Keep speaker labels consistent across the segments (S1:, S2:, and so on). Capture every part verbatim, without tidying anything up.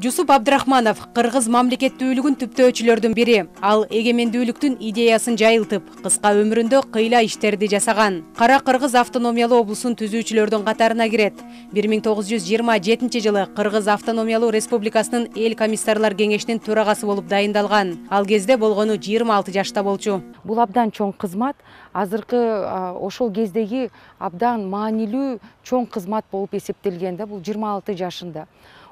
S1: Жусуп Абдрахманов кыргыз мамлекеттүүлүгүн түптөөчүлөрдүн бири. Ал эгемендүүлүктүн идеясын жайылтып, кыска өмүрүндө кыйла иштерди жасаган. Кара Кыргыз автономиялуу облусун түзүүчүлөрдүн катарына кирет. бир миң тогуз жүз жыйырма жетинчи жылы Кыргыз автономиялуу республикасынын эл комиссарлар кеңешинин төрагасы болуп дайындалган. Ал кезде болгону жыйырма алты жашта болчу.
S2: Бул абдан чоң кызмат. Азыркы ошол кездеги абдан маанилүү чоң кызмат болуп эсептелген да, бул жыйырма алты жашында.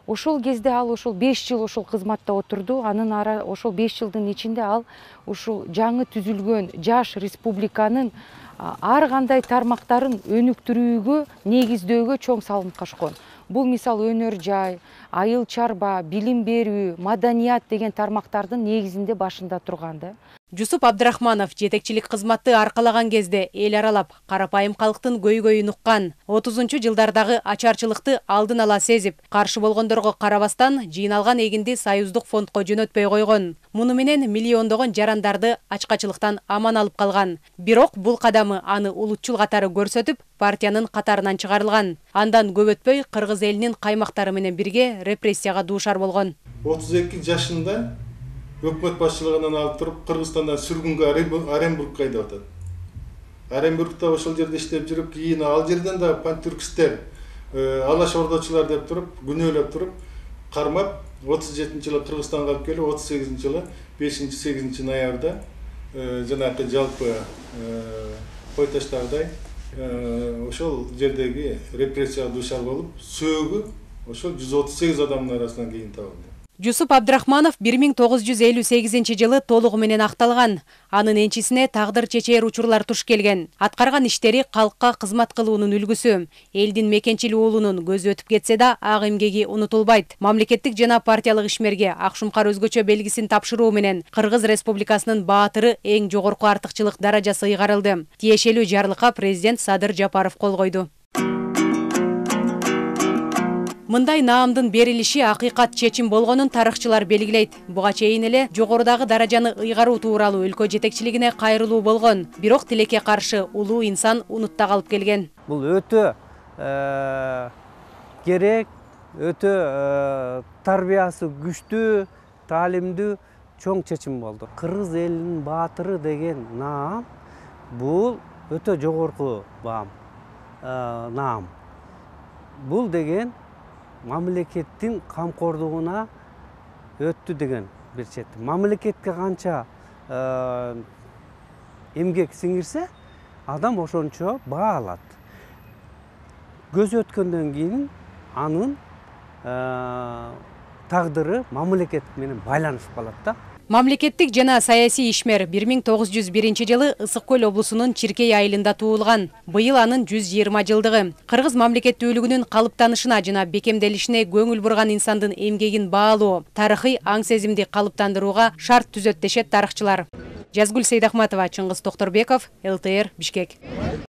S2: Ошол кезде ал ошол беш жыл ошол кызматта отурду. Анын ара ошол беш жылдын ичинде ал ушул жаңы түзүлгөн жаш республиканын ар кандай тармактарын өнүктүрүүгө, негиздөөгө чоң салым кошкон. Бул мисалы өнөр жай, айыл чарба, билим берүү, маданият деген тармактардын негизинде башында турган да.
S1: Жусуп Абдрахманов жетекчилик кызматты аркалаган кезде эл аралап карапайым калктын көйгөйүн уккан. отузунчу жылдардагы ачарчылыкты алдын ала сезип, каршы болгондорго карабастан жыйналган эгинди союздук фондко жөнөтпөй койгон. Муну менен миллиондогон жарандарды ачкачылыктан аман алып калган. Бирок бул кадамы аны улутчул катары көрсөтүп, партиянын катарынан чыгарылган. Андан көп өтпөй кыргыз элинин каймактары менен бирге репрессияга дуушар болгон.
S3: отуз эки жашында өкмөт башчылыгынан алып туруп Кыргызстандан сүргүнгө Оренбургга айдап атат. Оренбургда ошол жерде иштеп жүрүп, кийин ал жерден да пантюркисттер, алаш ордочулар деп туруп, күнөөлөп туруп, кармап, отуз жетинчи жылы Кыргызстанга алып келип, отуз сегизинчи жылы бешинчи сегизинчи ноябрда жанагы жалпы кой таштагыдай ошол жердеги репрессияга дуушар болуп, сөөгү ошол жүз отуз сегиз адамдын арасынан кийин табылды.
S1: Жусуп Абдрахманов бир миң тогуз жүз элүү сегизинчи жылы толугу менен акталган. Анын энчисине тагдыр чечээр учурлар туш келген. Аткарган иштери калкка кызмат кылуунун үлгүсү. Элдин мекенчил уулунун көзү өтүп кетсе да, ак эмгеги унутулбайт. Мамлекеттик жана партиялык ишмерге Акшумкар өзгөчө белгисин тапшыруу менен Кыргыз Республикасынын баатыры эң жогорку артыкчылык даражасы ыйгарылды. Тиешелүү жарлыкка президент Садыр Жапаров кол койду. Мындай наамдын берилиши акыйкат чечим болгонун тарыхчылар белгилейт. Буга чейин эле жогорудагы даражаны ыйгаруу тууралуу өлкө жетекчилигине кайрылуу болгон. Бирок тилекке каршы улуу инсан унутта калып келген.
S4: Бул өтө керек, өтө тарбиясы күчтүү, таалимдүү чоң чечим болду. Кыргыз элинин баатыры деген наам бул өтө жогорку баам, наам. Бул деген мамлекеттин камкордугуна өттү деген бир чети. Мамлекетке канча эмгек сиңирсе, адам ошончо баа алат. Көз өткөндөн кийин анын тагдыры мамлекет менен байланышып калат да.
S1: Мамлекеттик жана саясий ишмер бир миң тогуз жүз биринчи жылы Ысык көл облусунун Чиркей айылында туулган. Быйыл анын жүз жыйырма жылдыгы. Кыргыз мамлекеттүүлүгүнүн калыптанышына жана бекемделишине көңүл бурган инсандын эмгегин баалоо, тарыхый аң сезимди калыптандырууга шарт түзөт дешет тарыхчылар. Жазгүл Сейдахматова, Чыңгыз Токторбеков, эл тэ эр, Бишкек.